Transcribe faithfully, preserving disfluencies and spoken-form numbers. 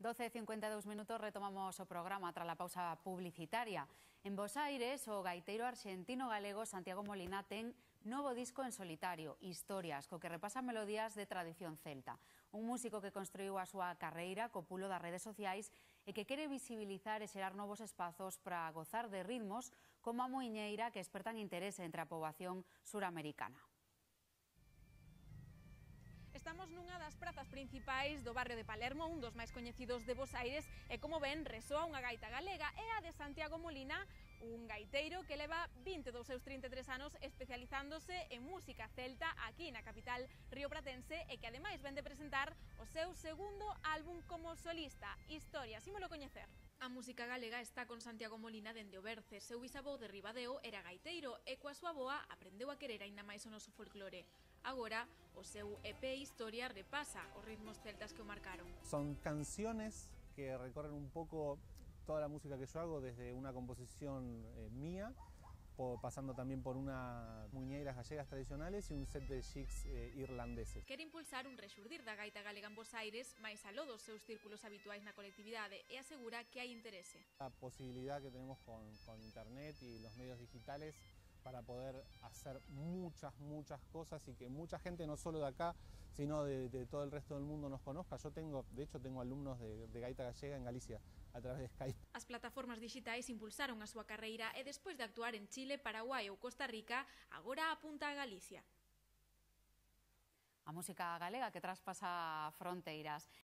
doce e cincuenta e dous minutos retomamos o programa tras a pausa publicitaria. En Bos Aires, o gaiteiro arxentino-galego Santiago Molina ten novo disco en solitario, Historias, co que repasa melodías de tradición celta. Un músico que construiu a súa carreira co pulo das redes sociais e que quere visibilizar e xerar novos espazos para gozar de ritmos como a muiñeira que espertan interese entre a poboación suramericana. Estamos nunha das prazas principais do barrio de Palermo, un dos máis coñecidos de Bos Aires, e como ven, resoa unha gaita galega, e a de Santiago Molina, un gaiteiro que leva vinte dos seus trinta e tres anos especializándose en música celta aquí na capital riopratense e que ademais ven de presentar o seu segundo álbum como solista, Historias. Ímolo coñecer. A música galega está con Santiago Molina dende o berce. Seu bisavó de Ribadeo era gaiteiro e coa súa boa aprendeu a querer aínda máis o noso folclore. Agora, o seu E P Historia repasa os ritmos celtas que o marcaron. Son canciones que recorren un poco toda la música que yo hago, desde una composición eh, mía, por, pasando también por unas muñeiras gallegas tradicionales y un set de jigs eh, irlandeses. Quere impulsar un rexurdir da gaita galega en Bos Aires, máis aló dos seus círculos habituais na colectividade, e asegura que hai interese. La posibilidad que tenemos con, con internet y los medios digitales para poder hacer muchas, muchas cosas y que mucha gente, no solo de acá, sino de, de todo el resto del mundo nos conozca. Yo tengo, de hecho, tengo alumnos de, de gaita gallega en Galicia a través de Skype. As plataformas digitais impulsaron a súa carreira e despois de actuar en Chile, Paraguai ou Costa Rica, agora apunta a Galicia. A música galega que traspasa fronteiras.